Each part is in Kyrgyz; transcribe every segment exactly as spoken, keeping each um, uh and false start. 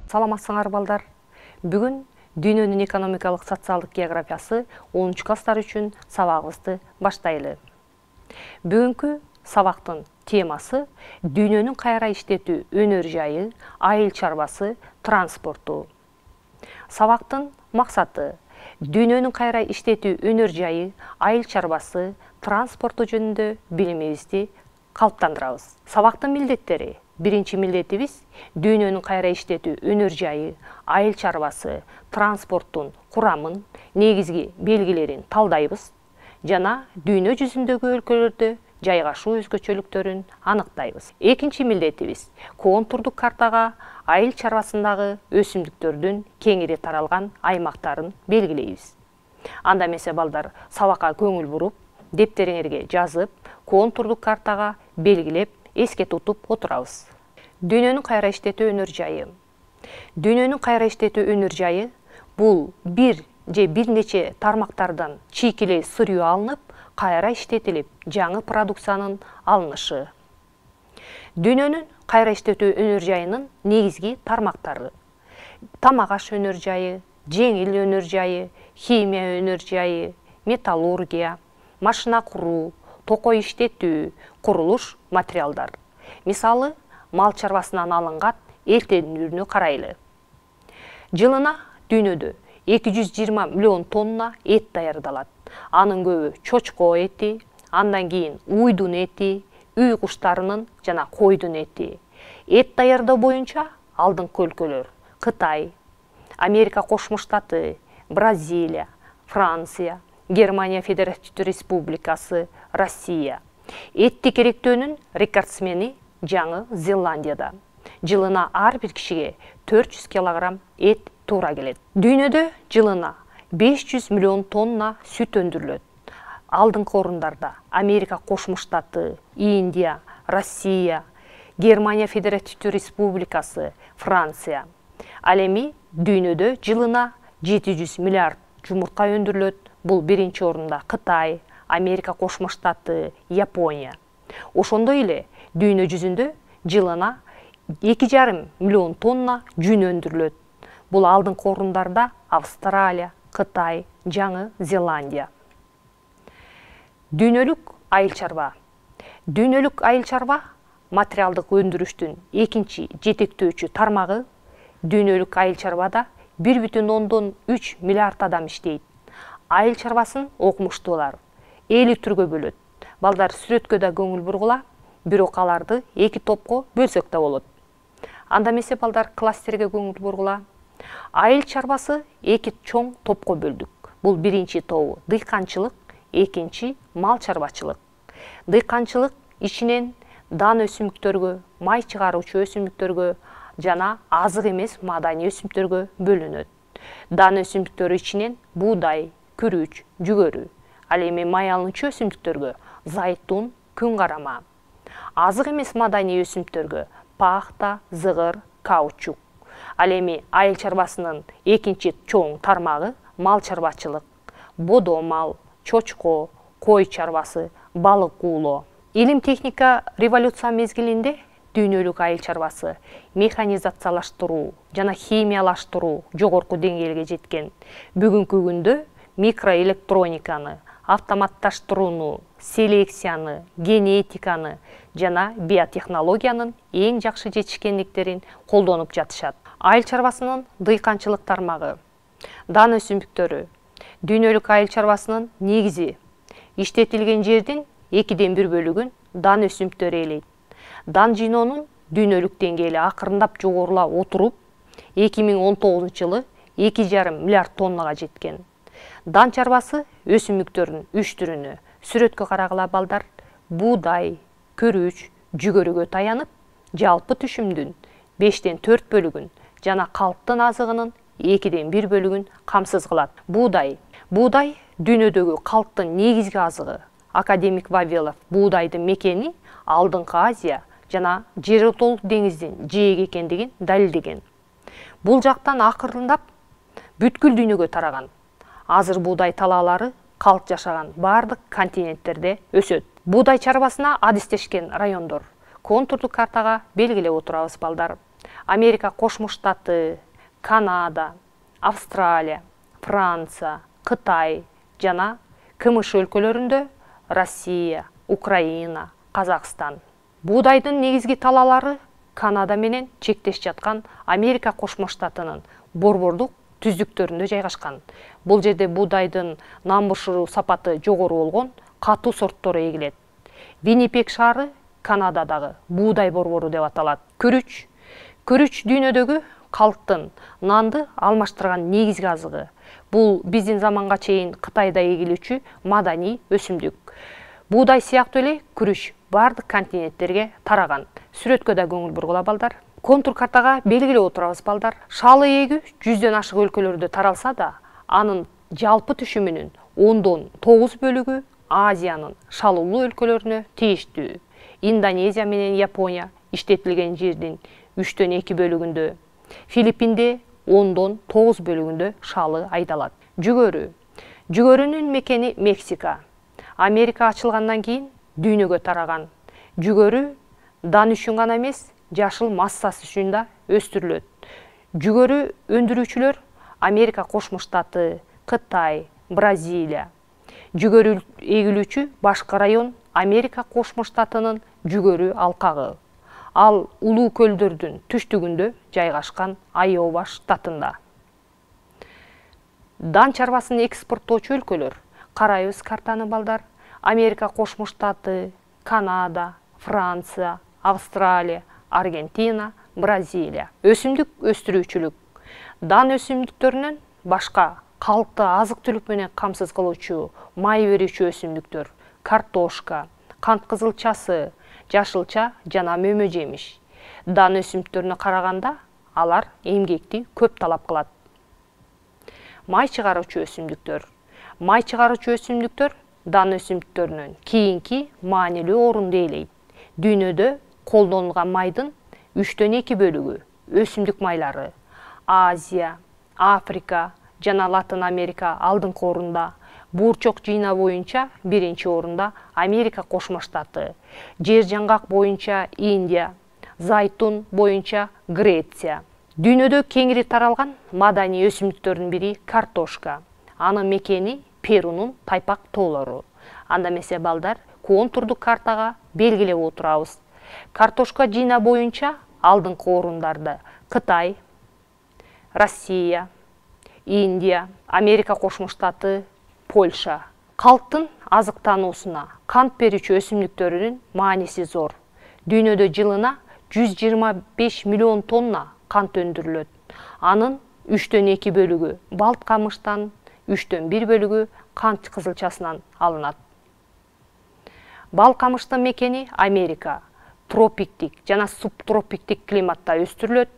Саламатсыңар балдар. Бүгүн дүйнөнүн экономикалык социалдык географиясы онунчу класстар үчүн сабагыбызды баштайлы. Бүгүнкү сабактын темасы дүйнөнүн кайра иштетүү өнөр жайы, айыл чарбасы, транспорту. Сабактын максаты дүйнөнүн кайра иштетүү өнөр жайы, айыл чарбасы, транспорту жөнүндө билимибизди калыптандырабыз. Сабактын милдеттери: биринчи милдетибиз дүйнөнүн кайра иштетүү өнөр жайы, айыл чарбасы, транспорттун курамын, негизги белгилерин талдайбыз жана дүйнө жүзүндөгү өлкөлөрдө жайгашуу өзгөчөлүктөрүн аныктайбыз. Экинчи милдетибиз контурдук картага айыл чарбасындагы өсүмдүктөрдүн кеңири таралган аймактарын белгилейбиз. Анда эмесе балдар, сабакка көңүл буруп, дептериңерге жазып, контурдук картага белгилеп, эске тутуп отурабыз. Дүйнөнүн кайра иштетүү өнөр жайы. Дүйнөнүн кайра иштетүү өнөр жайы бул бир же бир нече тармактардан чийкилей сыруу алынып, кайра иштетилип, жаңы продукциянын алынышы. Дүйнөнүн кайра иштетүү өнөр жайынын негизги тармактары: тамак аш өнөр жайы, жеңил өнөр жайы, химия өнөр жайы, металлургия, машина куруу, токой иштетүү, курулуш материалдар. Мисалы, мал чарбасынан алынган эртенүүнү карайлы. Жылына дүйнөдө эки жүз жыйырма миллион тонна эт даярдалат. Анын көбү чочко эти, андан кийин уйдун эти, үй куштарынын жана койдун эти. Эт даярдоо боюнча алдыңкы өлкөлөр: Кытай, Америка Кошмо Штаты, Бразилия, Франция, Германия Федеративдүү Республикасы, Россия. Этти керектөөнүн рекордсмени Жаңы Зеландияда. Жылына ар бир кишиге төрт жүз килограмм эт туура келет. Дүйнөдө жылына беш жүз миллион тонна сүт өндүрүлөт. Алдыңкы орундарда Америка Кошмо Штаты, Индия, Россия, Германия Федеративдүү Республикасы, Франция. Ал эми дүйнөдө жылына жети жүз миллиард жумуртка өндүрүлөт. Бул биринчи орунда Кытай, Америка Кошмо Штаты, Япония. Ошондой эле дүйнө жүзүндө жылына эки жарым миллион тонна жүн өндүрүлөт. Бул алдыңкы орундарда Австралия, Кытай, Жаңы Зеландия. Дүйнөлүк айыл чарба. Дүйнөлүк айыл чарба материалдык өндүрүштүн экинчи жетектөөчү тармагы. Дүйнөлүк айыл чарбада бир бүтүн ондон үч миллиард адам иштейт. Айыл чарбасын окумуштуулар элүү түргө бөлөт. Балдар, сүрөткө да көңүл бургула, бирок аларды эки топко бөлсөк да болот. Анда эмесе балдар, кластерге көңүл бургула. Айыл чарбасы эки чоң топко бөлдүк. Бул биринчи тобу дыйканчылык, экинчи мал чарбачылык. Дыйканчылык ичинен дан өсүмдүктөргө, май чыгаруучу өсүмдүктөргө жана азык эмес маданий өсүмдүктөргө бөлүнөт. Дан өсүмдүктөрү ичинен буудай, күрүч, жүгөрү. Ал эми май алуучу өсүмдүктөргө зайтун, күн карама. Азык эмес маданий өсүмдүктөргө пахта, зыгыр, каучук. Ал эми айыл чарбасынын экинчи чоң тармагы мал чарбачылык: бодо мал, чочко, кой чарбасы, балык уулоо. Илим техника революция мезгилинде дүйнөлүк айыл чарбасы механизациялаштыруу жана химиялаштыруу жогорку деңгээлге жеткен. Бүгүнкү күндө микроэлектрониканы, автоматташтырууну, селекцияны, генетиканы жана биотехнологиянын эң жакшы жетишкендиктерин колдонуп жатышат. Айыл чарбасынын дыйканчылык тармагы. Дан өсүмдүктөрү. Дүйнөлүк айыл чарбасынын негизи: иштетилген жердин экиден бир бөлүгүн дан өсүмдүктөрү ээлейт. Дан жыйноонун дүйнөлүк деңгээли акырындап жогорулап отуруп, эки миң он тогузунчу жылы эки жарым миллиард тоннага жеткен. Дан чарбасы өсүмдүктөрдүн үч түрүнө сүрөткө карагыла балдар: буудай, күрүч, жүгөрүгө таянып, жалпы түшүмдүн бештен төрт бөлүгүн жана калктын азыгынын экиден бир бөлүгүн камсыз кылат. Буудай. Буудай дүйнөдөгү калктын негизги азыгы. Академик Вавилов буудайдын мекени алдыңкы Азия жана Жеротол деңиздин жээги экендигин далилдеген. Бул жактан акырындап бүткүл дүйнөгө тараган. Азыр буудай талаалары калк жашаган бардык континенттерде өсөт. Буудай чарбасына адистешкен райондор контурдук картага белгилеп отурабыз балдар. Америка Кошмо Штаты, Канада, Австралия, Франция, Кытай жана КМШ өлкөлөрүндө Россия, Украина, Казакстан. Буудайдын негизги талаалары Канада менен чектеш жаткан Америка Кошмо Штатынын борбордук түздүктөрүндө жайгашкан. Бул жерде буудайдын намбышыруу сапаты жогору болгон катуу сорттору эгилет. Виннипег шаары Канададагы буудай борбору деп аталат. Күрүч. Күрүч дүйнөдөгү калктын нанды алмаштырган негизги азыгы. Бул биздин заманга чейин Кытайда эгилүүчү маданий өсүмдүк. Буудай сыяктуу эле күрүч бардык континенттерге тараган. Сүрөткө да көңүл бургула балдар. Контур картага белгилеп отурабыз балдар. Шалы эгүү жүздөн ашык өлкөлөрдө таралса да, анын жалпы түшүмүнүн ондон тогуз бөлүгү Азиянын шалуулуу өлкөлөрүнө тийиштүү. Индонезия менен Япония иштетилген жердин үчтөн эки бөлүгүндө, Филиппинде ондон тогуз бөлүгүндө шалы айдалат. Жүгөрү. Жүгөрүнүн мекени Мексика. Америка ачылгандан кийин дүйнөгө тараган. Жүгөрү дан үчүн гана эмес, жашыл массасы үчүн да өстүрүлөт. Жүгөрү өндүрүүчүлөр Америка Кошмо Штаты, Кытай, Бразилия. Жүгөрү эгилүүчү башкы район Америка Кошмо Штатынын жүгөрү алкагы. Ал улуу көлдөрдүн түштүгүндө жайгашкан Айова штатында. Дан чарбасын экспорттоочу өлкөлөр. Карайбыз картаны балдар. Америка Кошмо Штаты, Канада, Франция, Австралия, Аргентина, Бразилия. Өсүмдүк өстүрүүчүлүк. Дан өсүмдүктөрүнөн башка калкты азык-түлүк менен камсыз кылуучу май берүүчү өсүмдүктөр: картошка, кант кызылчасы, жашылча жана мөмө жемиш. Дан өсүмдүктөрүнө караганда алар эмгекти көп талап кылат. Май чыгаруучу өсүмдүктөр. Май чыгаруучу өсүмдүктөр дан өсүмдүктөрүнөн кийинки маанилүү орунду ээлейт. Дүйнөдө колдонулган майдын үчтөн эки бөлүгү өсүмдүк майлары. Азия, Африка жана Латын Америка алдыңкы орунда. Буурчок жыйнаа боюнча биринчи орунда Америка Кошмо Штаты. Жер жаңгак боюнча Индия, зайтун боюнча Греция. Дүйнөдө кеңири таралган маданий өсүмдүктөрдүн бири картошка. Анын мекени Перунун тайпак тоолору. Анда эмесе балдар, контурдук картага белгилеп отурабыз. Картошка жыйнаа боюнча алдыңкы орундарда Кытай, Россия, Индия, Америка Кошмо Штаты, Польша. Калктын азыктануусуна кант берүүчү өсүмдүктөрүнүн мааниси зор. Дүйнөдө жылына жүз жыйырма беш миллион тонна кант өндүрүлөт. Анын үчтөн эки бөлүгү балт камыштан, үчтөн бир бөлүгү кант кызылчасынан алынат. Бал камыштын мекени Америка. Тропиктик жана субтропиктик климатта өстүрүлөт.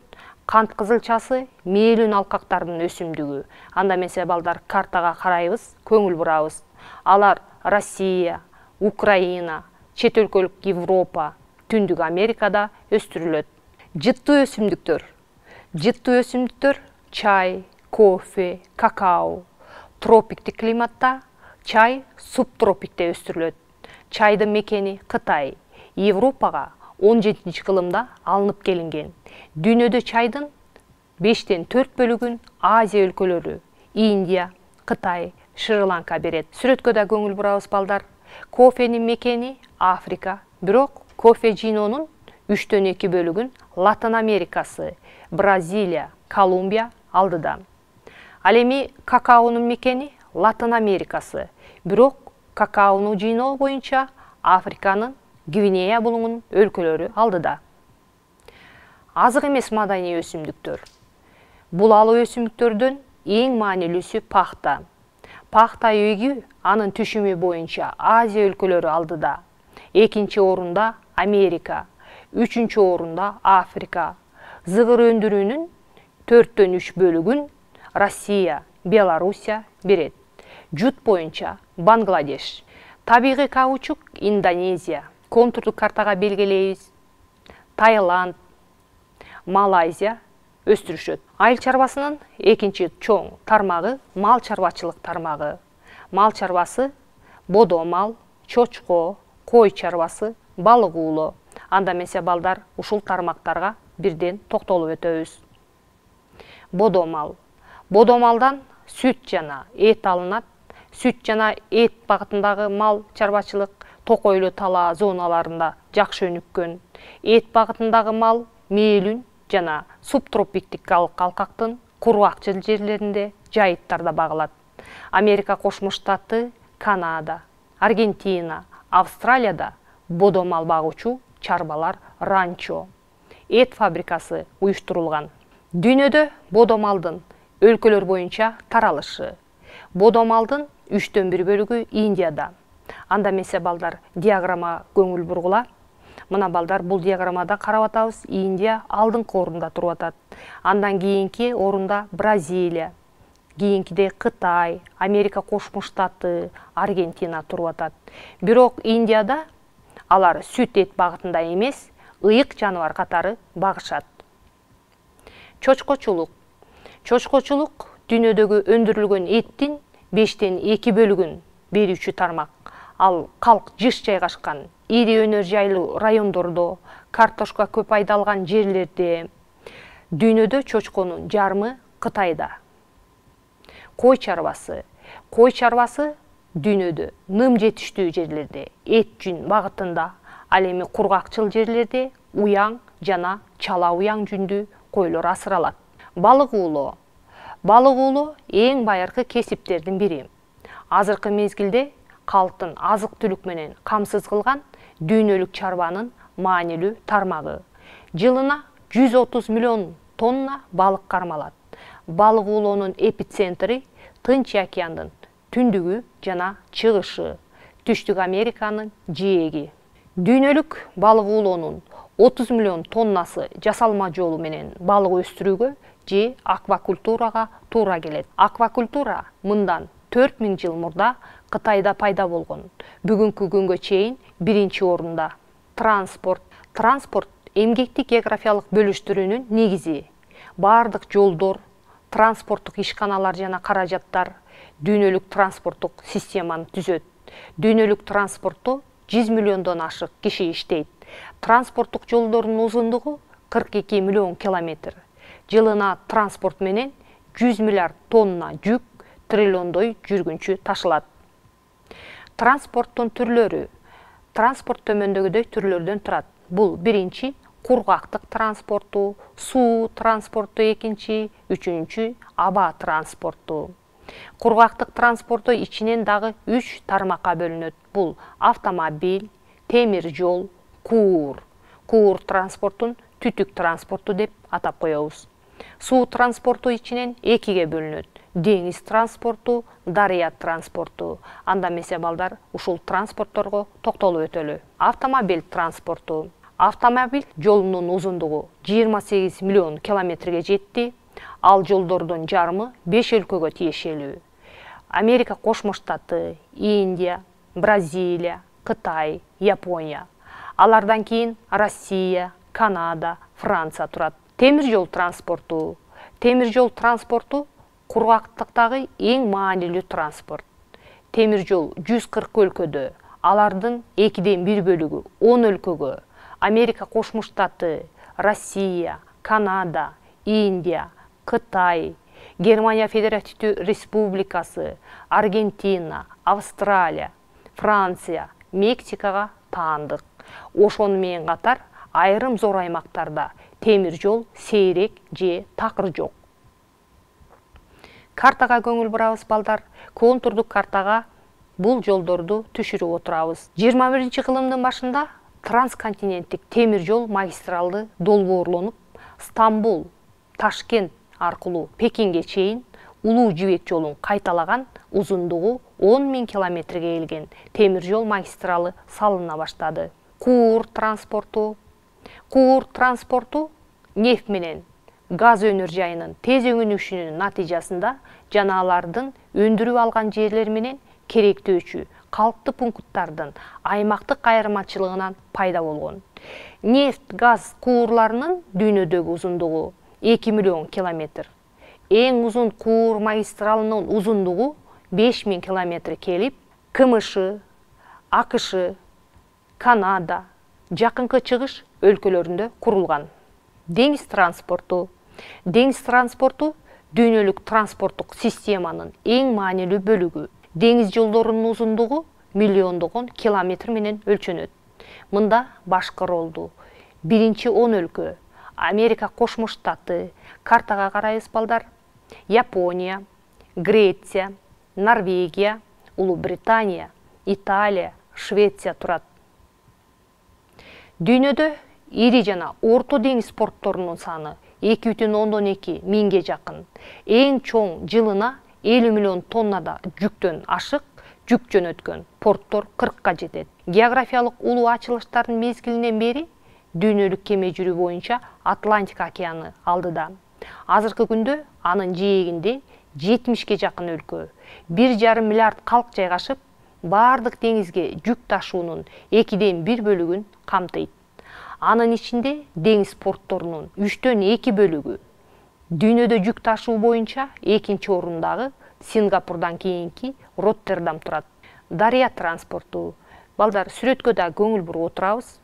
Кант кызылчасы мээлүүн алкактардын өсүмдүгү. Анда эмесе балдар, картага карайбыз, көңүл бурабыз. Алар Россия, Украина, чет өлкөлүк Европа, Түндүк Америкада өстүрүлөт. Жыттуу өсүмдүктөр. Жыттуу өсүмдүктөр чай, кофе, какао. Тропиктик климатта, чай субтропикте өстүрүлөт. Чайдын мекени Кытай. Европага он жетинчи кылымда алынып келинген. Дүйнөдө чайдын бештен төрт бөлүгүн Азия өлкөлөрү, Индия, Кытай, Шри-Ланка берет. Сүрөткө да көңүл бурабыз балдар. Кофенин мекени Африка, бирок кофе жыйноонун үчтөн эки бөлүгүн Латын Америкасы, Бразилия, Колумбия алдыда. Ал эми какаонун мекени Латын Америкасы, бирок какаону жыйноо боюнча Африканын Гвинея булуңун өлкөлөрү алдыда. Азык эмес маданий өсүмдүктөр. Булалуу өсүмдүктөрдөн эң маанилүүсү пахта. Пахта эгүү анын түшүмү боюнча Азия өлкөлөрү алдыда. Экинчи орунда Америка, үчүнчү орунда Африка. Зыгыр өндүрүүнүн төрттөн үч бөлүгүн Россия, Белоруссия берет. Жут боюнча Бангладеш. Табигый каучук Индонезия. Контурдук картага белгилейбиз. Таиланд, Малайзия өстүрүшөт. Айыл чарбасынын экинчи чоң тармагы мал чарбачылык тармагы. Мал чарбасы бодо мал, чочко, кой чарбасы, балык уулоо. Анда эмесе балдар, ушул тармактарга бирден токтолуп өтөбүз. Бодомал. Бодомалдан сүт жана эт алынат. Сүт жана эт багытындагы мал чарбачылык токойлуу талаа зоналарында жакшы өнүккөн. Эт багытындагы мал мээлүн жана субтропиктикалык алкактын кургакчыл жерлеринде, жайыттарда багылат. Америка Кошмо Штаты, Канада, Аргентина, Австралияда бодомал багуучу чарбалар ранчо, эт фабрикасы уюштурулган. Дүйнөдө бодомалдын өлкөлөр боюнча таралышы. Бодомалдын үчтөн бир бөлүгү Индияда. Анда эмесе балдар диаграмма көңүл бургула. Мына балдар, бул диаграммада карап атабыз, Индия алдыңкы орунда туруп атат. Андан кийинки орунда Бразилия, кийинкиде Кытай, Америка Кошмо Штаты, Аргентина туруп атат. Бирок Индияда алар сүт эт багытында эмес, ыйык жаныбар катары багышат. Чочкочулук. Чочкочулук дүйнөдөгү өндүрүлгөн эттин бештен эки бөлүгүн берүүчү тармак. Ал калк жыш жайгашкан ири өнөр жайлуу райондордо, картошка көп айдалган жерлерде. Дүйнөдө чочконун жарымы Кытайда. Кой чарбасы. Кой чарбасы дүйнөдө ным жетиштүү жерлерде, эт жүн багытында, ал эми кургакчыл жерлерде уяң жана чала уяң жүндүү койлор асыралат. Балык уулоо. Балык уулоо эң байыркы кесиптердин бири. Азыркы мезгилде калктын азык-түлүк менен камсыз кылган дүйнөлүк чарбанын маанилүү тармагы. Жылына жүз отуз миллион тонна балык кармалат. Балык уулоонун эпицентри Тынч океандын түндүгү жана чыгышы, Түштүк Американын жээги. Дүйнөлүк балык уулоонун отуз миллион тоннасы жасалма жолу менен балык өстүрүүгө же аквакультурага туура келет. Аквакультура мындан төрт миң жыл мурда Кытайда пайда болгон. Бүгүнкү күнгө чейин биринчи орунда. Транспорт. Транспорт эмгектик географиялык бөлүштүрүүнүн негизи. Бардык жолдор, транспорттук ишканалар жана каражаттар дүйнөлүк транспорттук системаны түзөт. Дүйнөлүк транспортто жүз миллиондон ашык киши иштейт. Транспорттук жолдордун узундугу кырк эки миллион километр. Жылына транспорт менен жүз миллиард тонна жүк триллиондой жүргүнчү ташылат. Транспорттун түрлөрү. Транспорт төмөндөгүдөй түрлөрдөн турат. Бул биринчи кургактык транспорту, суу транспорту экинчи, үчүнчү аба транспорту. Кургактык транспорту ичинен дагы үч тармакка бөлүнөт. Бул автомобиль, темир жол, куур. Куур транспортун түтүк транспорту деп атап коебуз. Суу транспорту ичинен экиге бөлүнөт. Деңиз транспорту, дарыя транспорту. Анда эмесе балдар, ушул транспортторго токтолуп өтөлү. Автомобиль транспорту. Автомобиль жолунун узундугу жыйырма сегиз миллион километрге жетти. Ал жолдордун жарымы беш өлкөгө тиешелүү. Америка Кошмо Штаты, Индия, Бразилия, Кытай, Япония. Алардан кийин Россия, Канада, Франция турат. Темир жол транспорту. Темир жол транспорту кургактыктагы эң маанилүү транспорт. Темир жол жүз кырк өлкөдө, алардын экиден бир бөлүгү он өлкөгө, Америка Кошмо Штаты, Россия, Канада, Индия, Кытай, Германия Федеративдүү Республикасы, Аргентина, Австралия, Франция, Мексикага таандык. Ошону менен катар айрым зор аймактарда темир жол сейрек же такыр жок. Картага көңүл бурабыз балдар. Контурдук картага бул жолдорду түшүрүп отурабыз. жыйырма биринчи кылымдын башында трансконтиненттик темир жол магистралды долбоорлонуп, Стамбул, Ташкент аркылуу Пекинге чейин улуу жибек жолун кайталаган узундугу он миң километрге келген темир жол магистралы салына баштады. Куур транспорту. Куур транспорту нефть менен газ өнөр жайынын тез өңүнүшүнүн натыйжасында жана алардын өндүрүп алган жерлер менен керектөөчү калктуу пункттардын аймактык айырмачылыгынан пайда болгон. Нефть, газ куурларынын дүйнөдөгү узундугу эки миллион километр. Эң узун куур магистралынын узундугу беш миң километр келип, КМШ, АКШ, Канада, жакынкы чыгыш өлкөлөрүндө курулган. Деңиз транспорту. Деңиз транспорту дүйнөлүк транспорттук системанын эң маанилүү бөлүгү. Деңиз жолдорунун узундугу миллиондогон километр менен өлчөнөт. Мында башкы ролду биринчи он өлкө: Америка Кошмо Штаты, картага карайбыз балдар, Япония, Греция, Норвегия, Улуу Британия, Италия, Швеция турат. Дүйнөдө ири жана орто деңиз портторунун саны эки бүтүн ондон эки миңге жакын. Эң чоң жылына элүү миллион тоннада жүктөн ашык жүк жөнөткөн порттор кыркка жетет. Географиялык улуу ачылыштардын мезгилинен бери дүйнөлүк кеме жүрүү боюнча Атлантика океаны алдыда. Азыркы күндө анын жээгинде жетимишке жакын өлкө, бир жарым миллиард калк жайгашып, бардык деңизге жүк ташуунун экиден бир бөлүгүн камтыйт. Анын ичинде деңиз портторунун үчтөн эки бөлүгү. Дүйнөдө жүк ташуу боюнча экинчи орундагы Сингапурдан кийинки Роттердам турат. Дарыя транспорту. Балдар, сүрөткө да көңүл буруп отурабыз.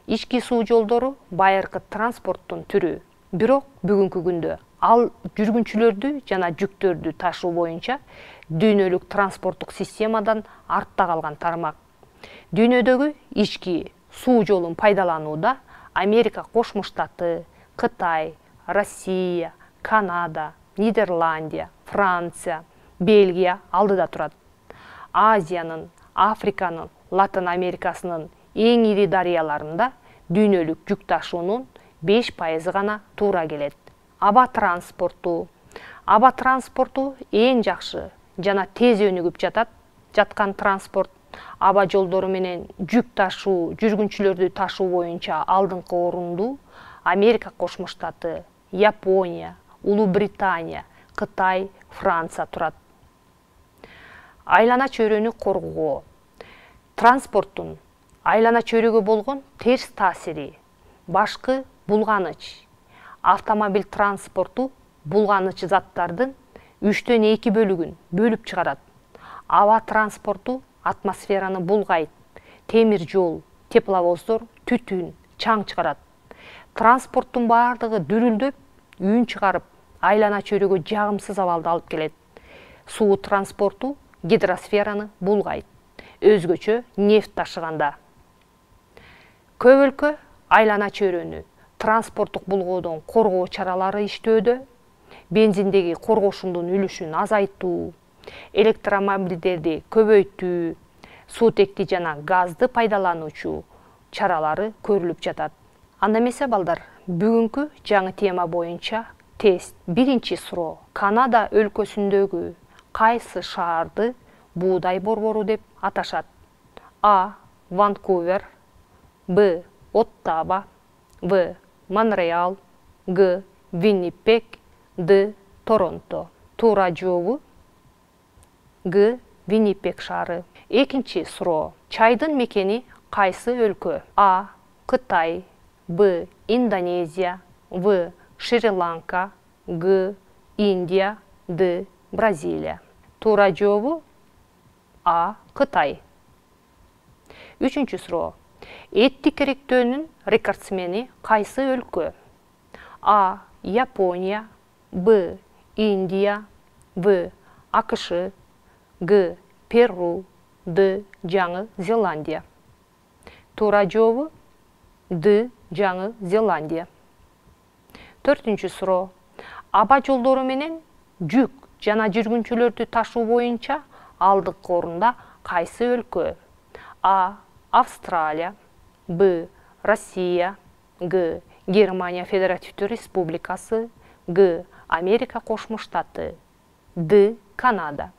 Ички суу жолдору байыркы транспорттун түрү. Бирок бүгүнкү күндө ал жүргүнчүлөрдү жана жүктөрдү ташуу боюнча дүйнөлүк транспорттук системадан артта калган тармак. Дүйнөдөгү ички суу жолун пайдаланууда Америка Кошмо Штаты, Кытай, Россия, Канада, Нидерландия, Франция, Бельгия алдыда турат. Азиянын, Африканын, Латын Америкасынын эң ири дарыяларында дүйнөлүк жүк ташуунун беш пайызы гана туура келет. Аба транспорту. Аба транспорту эң жакшы жана тез өнүгүп жатат жаткан транспорт. Аба жолдору менен жүк ташуу, жүргүнчүлөрдү ташуу боюнча алдыңкы орунду Америка Кошмо Штаты, Япония, Улуу Британия, Кытай, Франция турат. Айлана чөйрөнү коргоо. Транспорттун айлана чөйрөгө болгон терс таасири. Башкы булганыч. Автомобиль транспорту булганыч заттардын үчтөн эки бөлүгүн бөлүп чыгарат. Аба транспорту атмосфераны булгайт. Темир жол, тепловоздор түтүн, чаң чыгарат. Транспорттун бардыгы дүрүлдөп, үн чыгарып, айлана чөйрөгө жагымсыз абалды алып келет. Суу транспорту гидросфераны булгайт. Өзгөчө нефть ташыганда. Көп өлкө айлана чөйрөнү транспорттук булгоодон коргоо чаралары иштөөдө. Бензиндеги коргошундун үлүшүн азайтуу, электромобилдерди көбөйтүү, суутекти жана газды пайдалануучу чаралары көрүлүп жатат. Анда эмесе балдар, бүгүнкү жаңы тема боюнча тест. Биринчи суроо. Канада өлкөсүндөгү кайсы шаарды буудай борбору деп аташат? А. Ванкувер, Б. Оттава, В. Монреал, Г. Виннипег, Д. Торонто. Туура жообу Г. Виннипег шаары. Экинчи суроо. Чайдын мекени кайсы өлкө? А. Кытай, Б. Индонезия, В. Шри-Ланка, Г. Индия, Д. Бразилия. Туура жообу А. Кытай. Үчүнчү суроо. Эттик керектөөнүн рекордсмени кайсы өлкө? А. Япония, Б. Индия, В. АКШ, Г. Перу, Д. Жаңы Зеландия. Туура жообу Д. Жаңы Зеландия. Төртүнчү суроо. Аба жолдору менен жүк жана жүргүнчүлөрдү ташуу боюнча алдыңкы орунда кайсы өлкө? А. Австралия, Б. Россия, Г. Германия Федеративдүү Республикасы, Г. Америка Кошмо Штаты, Д. Канада.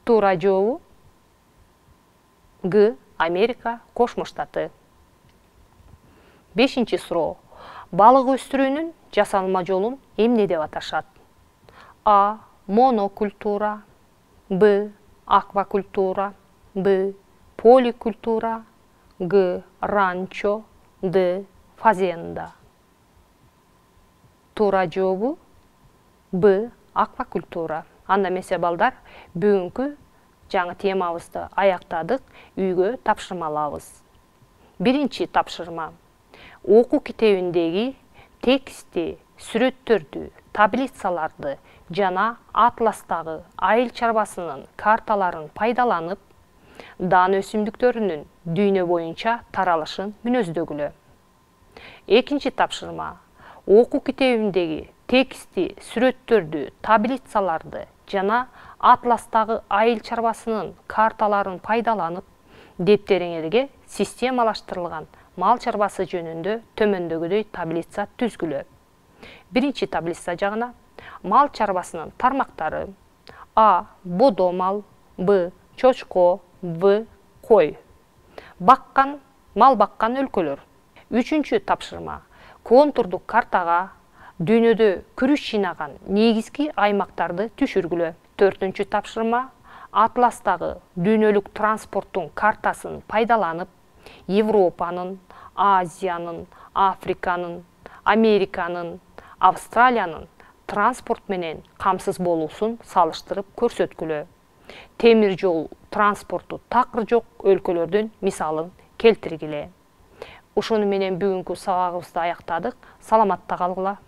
Туура жообу Г. Америка Кошмо Штаты. Бешинчи суроо. Балык өстүрүүнүн жасалма жолун эмне деп аташат? А. Монокультура, Б. Аквакультура, Б. Поликультура, Г. Ранчо, Д. Фазенда. Туура жообу Б. Аквакультура. Анда эмесе балдар, бүгүнкү жаңы темабызды аяктадык, үйгө тапшырма алабыз. Биринчи тапшырма. Окуу китебиндеги тексти, сүрөттөрдү, таблицаларды жана атластагы айыл чарбасынын карталарын пайдаланып, дан өсүмдүктөрүнүн дүйнө боюнча таралышын мүнөздөгүлө. Экинчи тапшырма. Окуу китебиндеги тексти, сүрөттөрдү, таблицаларды жана атластагы айыл чарбасынын карталарын пайдаланып, дептериңерге системалаштырылган мал чарбасы жөнүндө төмөндөгүдөй таблица түзгүлө. Биринчи таблица жагына мал чарбасынын тармактары: А. Бодо мал, Б. Чочко, В. Кой. Баккан, мал баккан өлкөлөр. Үчүнчү тапшырма. Контурдук картага дүйнөдө күрүч жыйнаган негизги аймактарды түшүргүлө. Төртүнчү тапшырма. Атластагы дүйнөлүк транспорттун картасын пайдаланып, Европанын, Азиянын, Африканын, Американын, Австралиянын транспорт менен камсыз болуусун салыштырып көрсөткүлө. Темир жол транспорту такыр жок өлкөлөрдүн мисалын келтиргиле. Ушуну менен бүгүнкү сабагыбызды аяктадык. Саламатта калгыла.